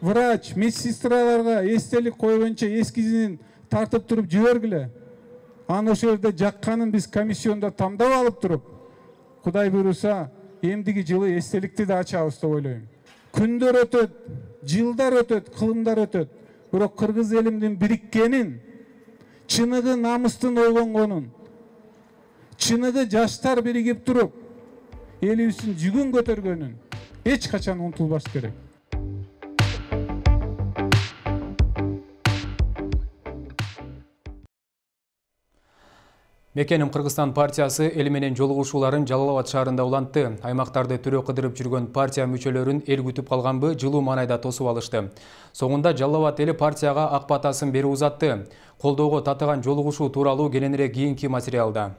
врач, медсестраларга эстелик койгончо эскизин тартып туруп жибергиле. Аны ошол жерде жакканын биз комиссиондо тамдап алып туруп, Кудай буйруса, эмдиги жылы эстеликти да ачабыз деп ойлойм. Күндөр өтөт, жылдар өтөт, кылымдар өтөт. Бирок кыргыз элимдин бириккенин, чыныгы намыстын ойгонгонун, чыныгы жаштар биригип туруп, элибиздин жүгүн көтөргөнүн эч качан унутулбаш керек.
Мекеним Кыргызстан партиясы эл менен жолугушууларын Жалал Абад шаарында улантты. Аймактарды түрө кыдырып жүргөн партия мүчөлөрүн эл күтүп калганбы жылуу маанайда тосуп алышты. Соңунда Жалал Абад эли партияга ак батасын берип узатты. Колдоого татыган жолугушуу тууралуу кененирээк кийинки материалда.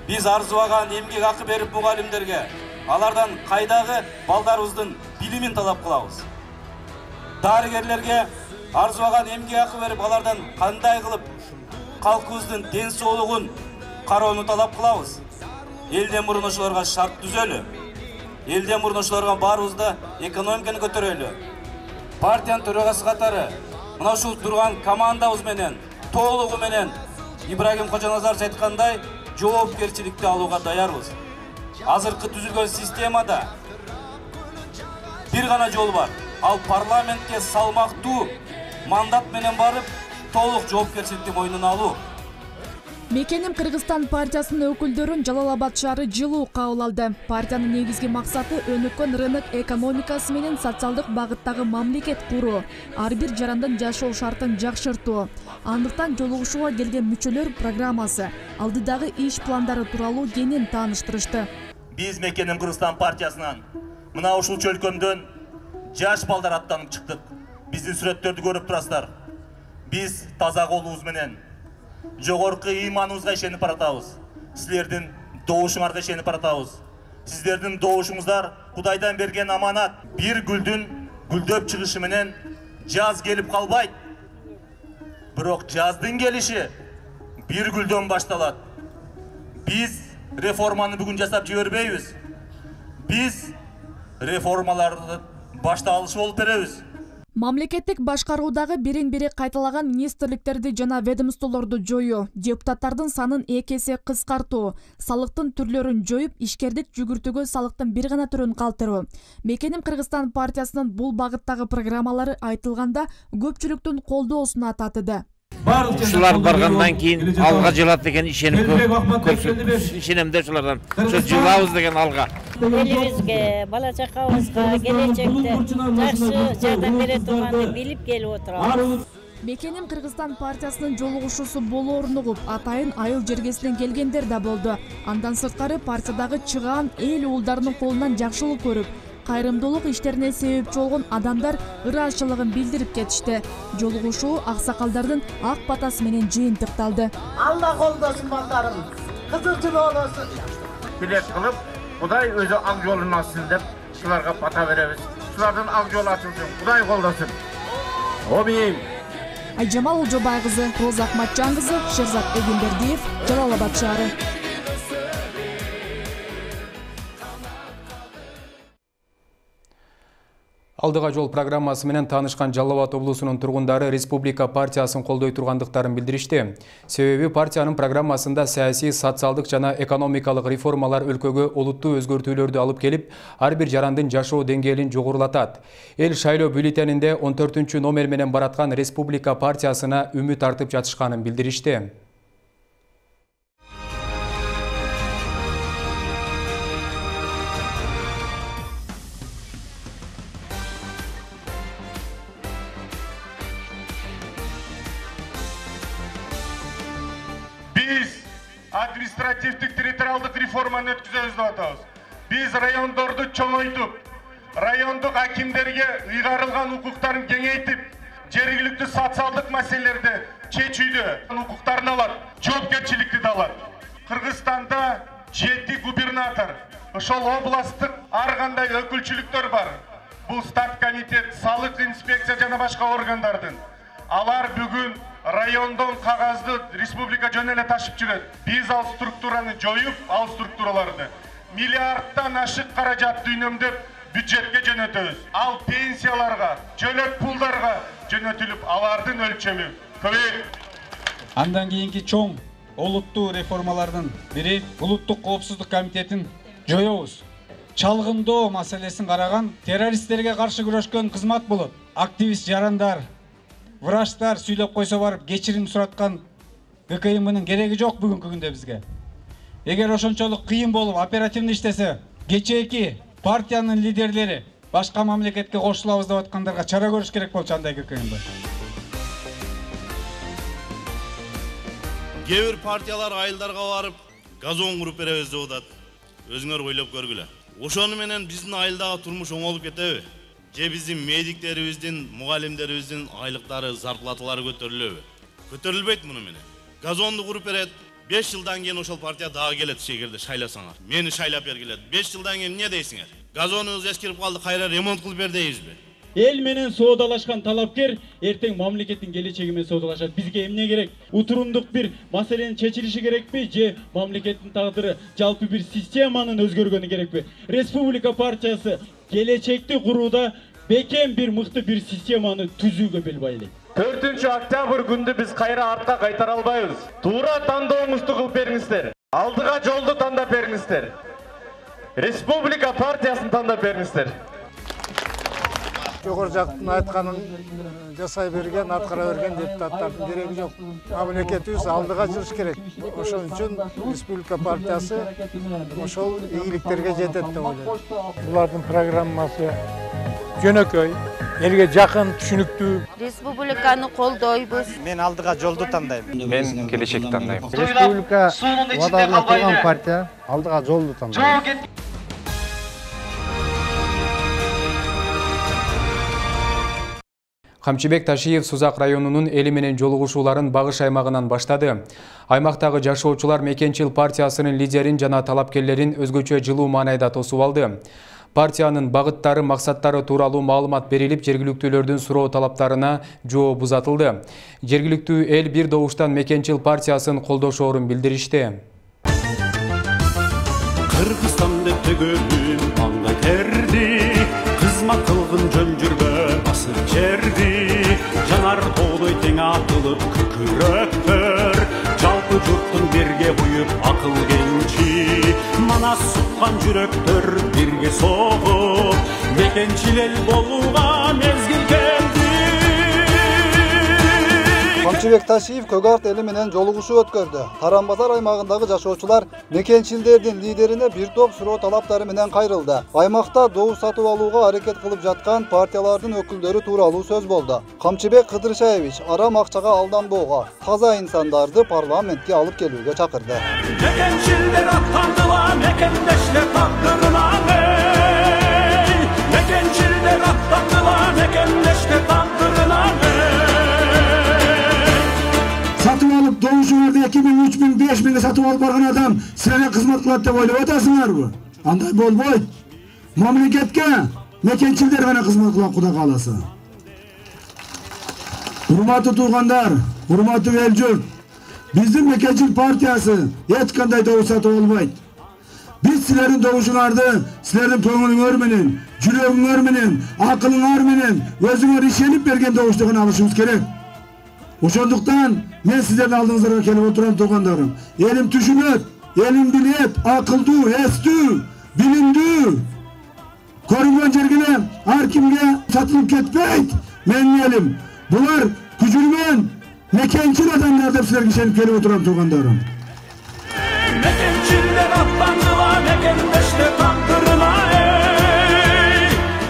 Биз арзубаган эмгек акы берип мугалимдерге, алардан кайдагы балдарыбыздын билимин талап кылабыз. Дарыгерлерге арзубаган эмгек акы берип, алардан кандай кылып калкыбыздын ден соолугун кароону талап кылабыз. Элден мурун ошолорго шарт түзөлү. Элден мурун ошолорго баарыбызда экономиканы көтөрөлү. Партиянын төрагасы катары мына ушул турган командабыз менен, толугу менен Ибрагим Кожоназарович айткандай, жоопкерчиликти алууга даярбыз. Азыркы түзүлгөн системада бир гана жол бар. Ал парламентке салмактуу мандат менен барып, толук жоопкерчиликти мойнуна алуу.
Мекеним Кыргызстан партиясынын өкүлдөрүн Жалал Абад шаары жылуу кабыл алды. Партиянын негизги максаты өнүккөн рынок экономикасы менен социалдык багыттагы мамлекет куруу, ар бир жарандын жашоо шартын жакшыртуу. Андыктан жолугушууга келген мүчөлөр программасы, алдыдагы иш пландары тууралуу кенен тааныштырышты.
Биз Мекеним Кыргызстан партиясынан мына ушул чөлкөмдөн жаш балдар аттанып чыктык. Биздин сүрөттөрдү көрүп турасыздар. Биз таза колубуз менен жогорку ыйманыбызга ишенип баратабыз. Силердин добушуңарга ишенип баратабыз. Сиздердин добушуңуздар Кудайдан берген аманат. Бир гүлдүн гүлдөп чыгышы менен жаз келип калбайт. Бирок жаздын келиши бир гүлдөн башталат. Биз реформаны бүгүн жасап жибербейбиз. Биз реформаларды башта алышы болуп беребиз.
Мамлекеттик башкаруудагы бирин-бири кайталаган министрликтерди жана ведомстволорду жоюу, депутаттардын санын эки эсе кыскартуу, салыктын түрлөрүн жоюп, ишкердик жүгүртүүгө салыктын бир гана түрүн калтыруу. Мекеним Кыргызстан партиясынын бул багыттагы программалары айтылганда көпчүлүктүн колдоосуна татыды.
Ушулар баргандан кийин алга жылат деген ишенип көрсөт. Ишенемде ушулардан. Ошо жылабыз деген алга.
Элибизге, бала чакабызга келечекте жакшы жардам бере турганды билип келип отурабыз.
Мекеним Кыргызстан партиясынын жолугушуусу болоорун угуп, атайын айыл жергесинен келгендер да болду. Андан сырткары партиядагы чыгаан эл уулдарынын колунан жакшылык көрүп, кайрымдуулук иштерине себепчи болгон адамдар ыраазычылыгын билдирип кетишти. Жолугушуу аксакалдардын ак батасы менен жыйынтыкталды.
Алла колдосун балдарым, кызыкчыл болосун. Билет кылып, Кудай өзү ак жолун ачсын деп, шуларга бата беребиз. Шулардын ак жолу ачылсын, Кудай колдосун. Амин.
Айжамал Ожобай кызы, Роза Акматжан кызы, Шерзат Эгембердиев, Жалал Абад шаары.
Алдыга жол программасы менен таанышкан Жалал Абад облусунун тургундары Республика партиясын колдой тургандыктарын билдиришти. Себеби партиянын программасында саясий, социалдык жана экономикалык реформалар өлкөгө олуттуу өзгөртүүлөрдү алып келип, ар бир жарандын жашоо деңгээлин жогорулатат. Эл шайлоо бюллетенинде он төртүнчү номер менен бараткан Республика партиясына үмүт артып жатышканын билдиришти.
Административдик территориалдык реформаны өткүзөбүз деп атабыз. Биз райондорду чоңойтуп, райондук акимдерге ыйгарылган укуктарын кеңейтип, жергиликтүү социалдык маселелерди чечүүдө укуктарын алат, жоопкерчиликти да алат. Кыргызстанда жети губернатор, ошол областтык ар кандай өкүлчүлүктөр бар. Бул стат комитет, салык инспекция жана башка органдардын. Алар бүгүн райондон кагазды республика жөн эле ташып жүрөт. Биз ал структураны жоюп, ал структураларды миллиардтан ашык каражатты үнөмдөп бюджетке жөнөтөбүз. Ал пенсияларга, жөлөк пулдарга жөнөтүлүп, алардын өлчөмү көбөйөт.
Андан кийинки чоң олуттуу реформалардын бири улуттук коопсуздук комитетин жоёбуз. Чалгындоо маселесин караган, террористтерге каршы күрөшкөн кызмат болот. Активист жарандар, врачтар сүйлөп койсо барып кечирим сураткан ГКМнын кереги жок бүгүнкү күндө бизге. Эгер ошончолук кыйын болуп оперативный иштесе, кечээки партиянын лидерлери башка мамлекетке кошулабыз деп аткандарга чара көрүш керек болчу андай ГКМ.
Кээ бир партиялар айылдарга барып, газон куруп беребиз деп атат. Өзүңөр ойлоп көргүлө. Ошону менен биздин айылдагы турмуш оңолуп кетеби? Же биздин медиктерибиздин, мугалимдерибиздин айлыктары, зарплаталары көтөрүлөбү? Көтөрүлбөйт муну менен. Газонду куруп берет, беш жылдан кийин ошол партия дагы келет шегерде шайласаңар. Мени шайлап бергилет. беш жылдан кийин эмне дейсиңер? Газонубуз эскирип калды, кайра ремонт кылып бер дейбизби?
Эл менен соодалашкан талапкер эртең мамлекеттин келечеги менен соодалашат. Бизге эмне керек? Утурундук бир маселенин чечилиши керекпи же мамлекеттин тагдыры жалпы бир системанын өзгөргөнү керекпи? Республика партиясы келечекти курууда бекем бир мыкты бир системаны түзүүгө бел байлайт.
төртүнчү октябрь күндү биз кайра артка кайтара албайбыз. Туура тандооңузду кылып бериңиздер. Алдыга жолду тандап бериңиздер. Республика партиясын тандап бериңиздер.
Жогору жактын айтканын жасай берген, аткара берген депутаттардын кереги жок. Мамлекетибиз алдыга жылыш керек. Ошон үчүн Республика партиясы ошол ийгиликтерге жетет деп ойлойм.
Булардын программасы жөнөкөй, элге жакын, түшүнүктүү.
Республиканы колдойбуз.
Мен алдыга жолду тандайм.
Мен келечекти тандайм.
Республика убадалана турган партия алдыга жолду тандайм.
Камчыбек Ташиев Сузак районунун эли менен жолугушууларын Багыш аймагынан баштады. Аймактагы жашоочулар Мекенчил партиясынын лидерин жана талапкерлерин өзгөчө жылуу маанайда тосуп алды. Партиянын багыттары, максаттары тууралуу маалымат берилип, жергиликтүүлөрдүн суроо талаптарына жооп узатылды. Жергиликтүү эл бир добуштан Мекенчил партиясын колдошоорун билдиришти.
Кыргызстан деп төгөлүм аңга терди, кызмат кылгын жөн жүрбө басып жерди, жанар тоолой тең атылып күкүрөктөр, жалпы журттун бирге буюп акыл кенчи, манас суккан жүрөктөр бирге согуп, Мекенчил эл болууга мезгил келди.
Камчыбек Ташиев Көгарт эли менен жолугушуу өткөрдү. Таранбазар аймагындагы жашоочулар Мекенчилдердин лидерине бир топ суроо талаптары менен кайрылды. Аймакта добуш сатып алууга аракет кылып жаткан партиялардын өкүлдөрү тууралуу сөз болду. Камчыбек Кыдыршаевич арам акчага алданбоого, таза инсандарды парламентке алып келүүгө чакырды.
Мекенчилдер аттандыла, мекендештер тагдырына, аттандыла мекендеште тагдырына
сатып алып добушуңарды эки миң үч миң беш миңге сатып алып барган адам силерге кызмат кылат деп ойлоп атасыңарбы? Андай болбойт. Мамлекетке мекенчилдер гана кызмат кылат, Кудай кааласа. Урматтуу туугандар, урматтуу эл журт, биздин мекенчил партиясы эч кандай добуш сатып албайт. Biz sizlerin doğuşuңарды, sizlerin көңүлүңөр менен, жүрөгүңөр менен, акылыңар менен өзүңөр ишенип берген добуштугун алышыбыз керек. Ошондуктан мен сиздердин алдыңыздарга келип отурам туугандарым. Элим түшүнөт, элим билет, акылдуу, эстүү, билимдүү. Көрүнгөн жерге ар кимге сатылып кетпейт. Менин элим. Булар күчүргөн мекенчил адамдар деп силерге ишенип келип отурам туугандарым.
Мекенчилдер аттандыла мекендеште тагдырына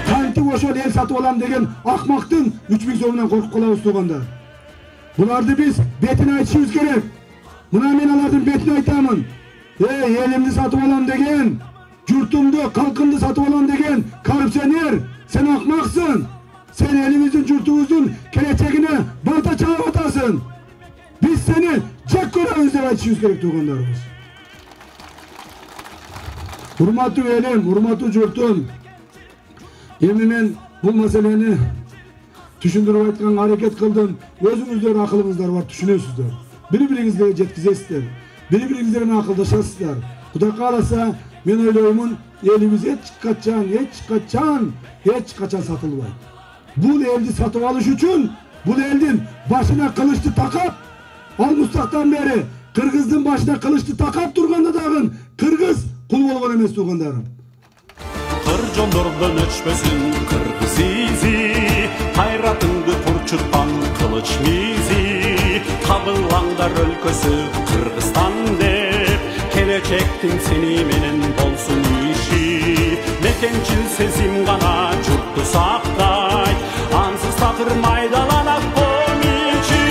Кантип ошол эл сатып алам деген акмактын үч миң сомунан коркуп калабыз туугандар. Буларды биз бетин айтышыбыз керек. Мына мен алардын бетин айтамын. Эй, элимди сатып алам деген, журтумду, калкымды сатып алам деген коррупционер, сен акмаксың. Sen elimizin, jurtubуздун келечегине балта чалып атасың. Биз сени жек көрөбүз деп айтышыбыз керек туугандарыбыз. Урматтуу элим, урматтуу журтум, эми мен бул маселени түшүндүрүп айтканга аракет кылдым. Өзүңүздөр акылыңыздар бар, түшүнөсүздөр. Бири-бириңизге жеткизесиздер. Бири-бириңиздер менен акылдашасыздар. Кудай кааласа, мен ойлоймун, элибиз эч качан, эч качан, эч качан сатылбайт. Бул элди сатып алыш үчүн, бул элдин башына кылычты такап, алмустактан бери кыргыздын башына кылычты такап турганда дагы кыргыз кул болгон эмес туугандарым.
Кыр жондордон өчпөсүн кыргыз изи, кайратыңды турчуткан кылыч мизи, кабылаңдар өлкөсү Кыргызстан деп, келечектин сени менен болсун иши, мекенчил сезим гана журтту сактайт, ансыз такыр майдаланат комичи.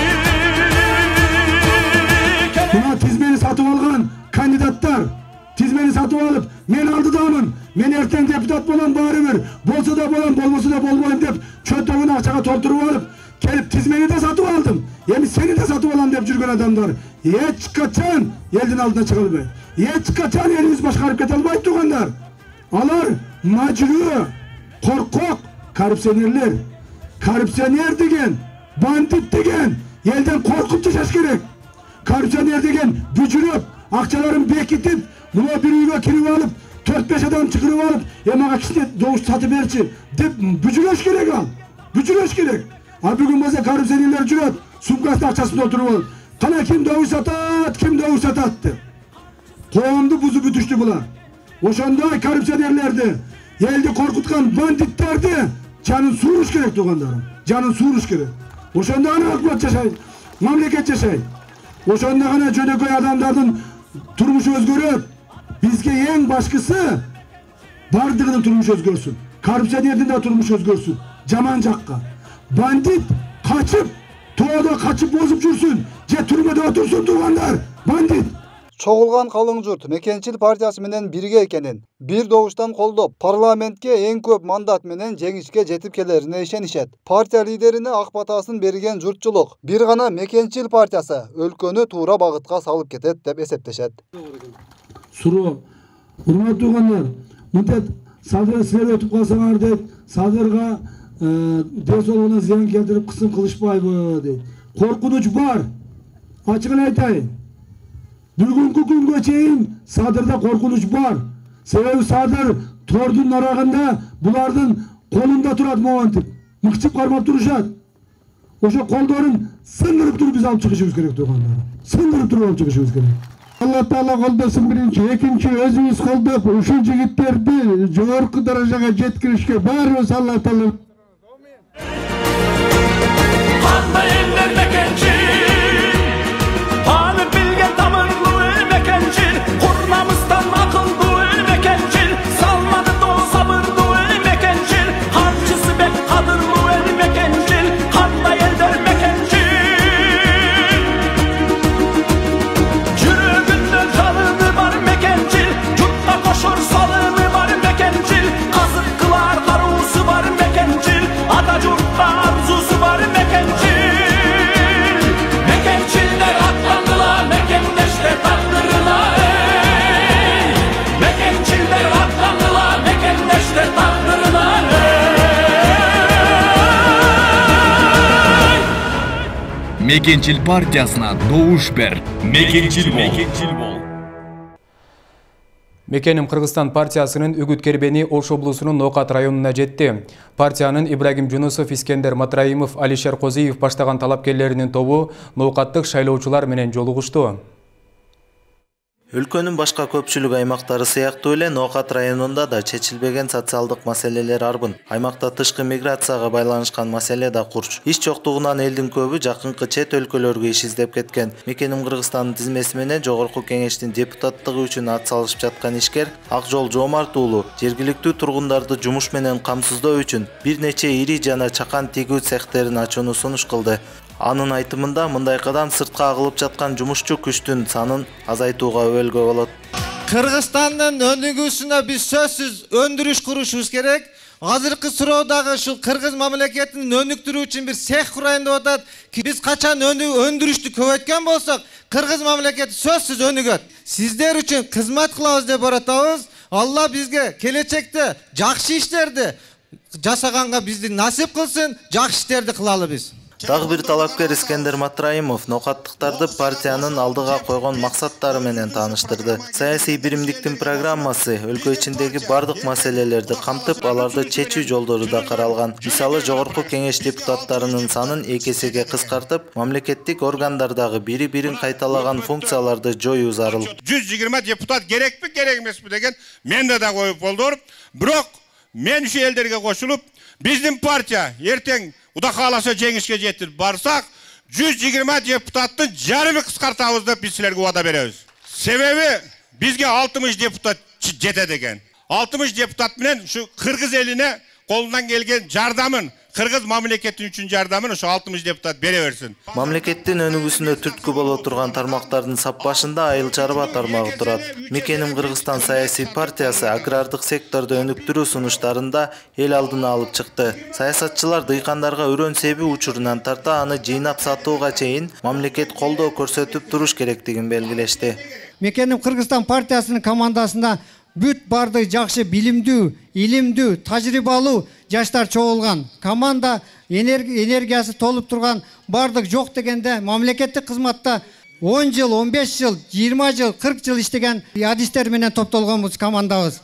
Мына тизмени сатып алган кандидаттар, тизмени сатып алып, мен алдыдамын, мен эртең депутат болом баары бир, болсо да болом, болбосо да болбойм деп чөнтөгүн акчага толтуруп алып, келип тизмени да сатып алдым, эми сени да сатып алам деп жүргөн адамдар эч качан элдин алдына чыга албайт. Эч качан элибиз башкарып кете албайт туугандар. Алар мажруу, коркок, коррупционерлер. Коррупционер деген, бандит деген элден коркуп жашаш керек. Коррупционер деген бүжүрөп, акчаларын бекитип, мына бир үйгө кирип алып, төрт беш адам чыгырып алып, "Э, мага кичине добуш сатып берчи" деп бүжүрөш керек ал. Бүжүрөш керек. А бүгүн болсо коррупционерлер жүрөт, сумкасына акчасын толтуруп алып, "Кана ким добуш сатат, ким добуш сатат" деп. Коомду бузуп бүтүштү булар. Ошондой коррупционерлерди, элди коркуткан бандиттерди жанын сууруш керек туугандарым. Жанын сууруш керек. Ошондо гана өкмөт жашайт, мамлекет жашайт. Ошондо гана жөнөкөй адамдардын турмушу өзгөрөт. Бизге эң башкысы бардыгынын турмушу өзгөрсүн. Коррупционердин да турмушу өзгөрсүн. Жаман жакка. Бандит качып, тоодо качып бозуп жүрсүн, же түрмөдө отурсун туугандар. Бандит.
Чогулган калың журт мекенчил партиясы менен бирге экенин, бир добуштан колдоп, парламентке эң көп мандат менен жеңишке жетип келерине ишенишет. Партия лидерине ак батасын берген журтчулук бир гана мекенчил партиясы өлкөнү туура багытка салып кетет деп эсептешет.
Суроо. Урматтуу туугандар, мынтет садыр силер өтүп калсаңар дейт, садырга ден соолугуна зыян келтирип кысым кылышпайбы дейт. Коркунуч бар. Ачыгын айтайын. Бүгүнкү күнгө чейин садырда коркунуч бар. Себеби садыр тордун нарагында булардын колунда турат моментип. Мыкчып кармап турушат. Ошо колдорун сындырып туруп биз алып чыгышыбыз керек туугандар. Сындырып туруп алып чыгышыбыз керек. Алла Таала колдосун биринчи, экинчи өзүбүз колдоп ушул жигиттерди жогорку даражага жеткиришке баарыбыз Алла Таала.
Кандай элдер мекенчил, танып билген тамырлуу эл мекенчил, курмамыздан акылдуу эл мекенчил, салмады доо сабырдуу эл мекенчил, карчысы бек кадырлуу эл мекенчил, кандай элдер мекенчил, жүрөгүндө жалыны бар мекенчил, журтка кошор салымы бар мекенчил, казык кылар каруусу бар мекенчил.
Мекенчил партиясына добуш бер. Мекенчил бол.
Мекеним Кыргызстан партиясынын үгүт кербени Ош облусунун Ноокат районуна жетти. Партиянын Ибрагим Жунусов, Искендер Матраимов, Алишер Козиев баштаган талапкерлеринин тобу ноокаттык шайлоочулар менен жолугушту.
Өлкөнүн башка көпчүлүк аймактары сыяктуу эле Ноокат районунда да чечилбеген социалдык маселелер арбын. Аймакта тышкы миграцияга байланышкан маселе да курч. Иш жоктугунан элдин көбү жакынкы чет өлкөлөргө иш издеп кеткен. Мекеним Кыргызстандын тизмеси менен Жогорку Кеңештин депутаттыгы үчүн ат салышып жаткан ишкер Акжол Жоомарт уулу жергиликтүү тургундарды жумуш менен камсыздоо үчүн бир нече ири жана чакан тигүү цехтерин ачууну сунуш кылды. Анын айтымында мындай кадам сыртка агылып жаткан жумушчу күчтүн санын азайтууга өбөлгө болот.
Кыргызстандын өнүгүүсүнө биз сөзсүз өндүрүш курушубуз керек. Азыркы суроодагы ушул кыргыз мамлекетин өнүктүрүү үчүн бир цех курайын деп атат. Биз качан өндүрүштү көбөйткөн болсок, кыргыз мамлекети сөзсүз өнүгөт. Сиздер үчүн кызмат кылабыз деп баратабыз. Алла бизге келечекте жакшы иштерди жасаганга бизди насип кылсын, жакшы иштерди кылалы биз.
Дагы бир талапкер Искендер Матраимов ноокаттыктарды партиянын алдыга койгон максаттары менен тааныштырды. Саясий биримдиктин программасы өлкө ичиндеги бардык маселелерди камтып, аларды чечүү жолдору да каралган. Мисалы, Жогорку Кеңеш депутаттарынын санын эки эсеге кыскартып, мамлекеттик органдардагы бири-бирин кайталаган функцияларды жоюу зарыл.
жүз жыйырма депутат керекпи, керек эмеспи деген менде да коюп болду. Бирок мен ушу элдерге кошулуп, биздин партия эртең Уда кааласа жеңишке жетип барсак, жүз жыйырма депутаттын жарымы кыскартабыз деп биз силерге убада беребиз. Себеби бизге алтымыш депутат жетет экен. алтымыш депутат менен ушу кыргыз элине колунан келген жардамын, кыргыз мамлекети үчүн жардамын ушу алтымыш депутат бере берсин.
Мамлекеттин өнүгүүсүнө түрткү боло турган тармактардын сап башында айыл чарба тармагы турат. Мекеним Кыргызстан саясий партиясы агрардык секторду өнүктүрүү сунуштарында эл алдына алып чыкты. Саясатчылар дыйкандарга өрөн себи учурунан тарта аны жыйнап сатууга чейин мамлекет колдоо көрсөтүп туруш керектигин белгилешти.
Мекеним Кыргызстан партиясынын командасында бүт барды жакшы билимдүү, илимдүү, тажрыйбалуу жаштар чогулган. Команда энергиясы толуп турган, бардык жок дегенде мамлекеттик кызматта он жыл, он беш жыл, жыйырма жыл, кырк жыл иштеген адистер менен топтолгонбуз командабыз.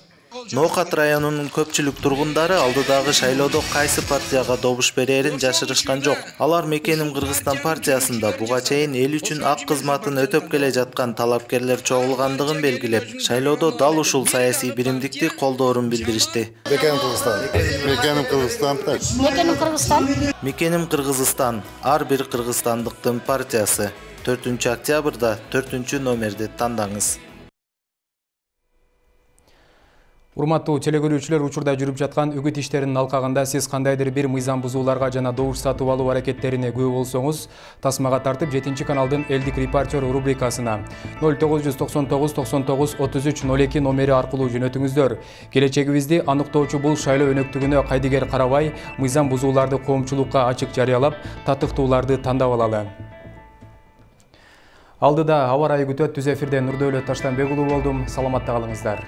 Ноокат районунун көпчүлүк тургундары алдыдагы шайлоодо кайсы партияга добуш берерин жашырышкан жок. Алар Мекеним Кыргызстан партиясында буга чейин эл үчүн ак кызматын өтөп келе жаткан талапкерлер чогулгандыгын белгилеп, шайлоодо дал ушул саясий биримдикти колдоорун билдиришти.
Мекеним Кыргызстан. Мекеним Кыргызстан.
Мекеним Кыргызстан. Мекеним Кыргызстан. Ар бир кыргызстандыктын партиясы. төртүнчү октябрда төртүнчү номерди тандаңыз.
Урматтуу телекөрүүчүлөр, учурда жүрүп жаткан үгүт иштеринин алкагында сиз кандайдыр бир мыйзам бузууларга жана добуш сатып алуу аракеттерине күбө болсоңуз, тасмага тартып жетинчи каналдын элдик репортер рубрикасына ноль тогуз жүз токсон тогуз токсон тогуз отуз үч ноль эки номери аркылуу жөнөтүңүздөр. Келечегибизди аныктоочу бул шайлоо өнөктүгүнө кайдыгер карабай, мыйзам бузууларды коомчулукка ачык жарыялап, татыктууларды тандап алалы. Алдыда аба ырайы күтөт. Түз эфирде Нурдөөлөт Таштанбек уулу болдум. Саламатта калыңыздар.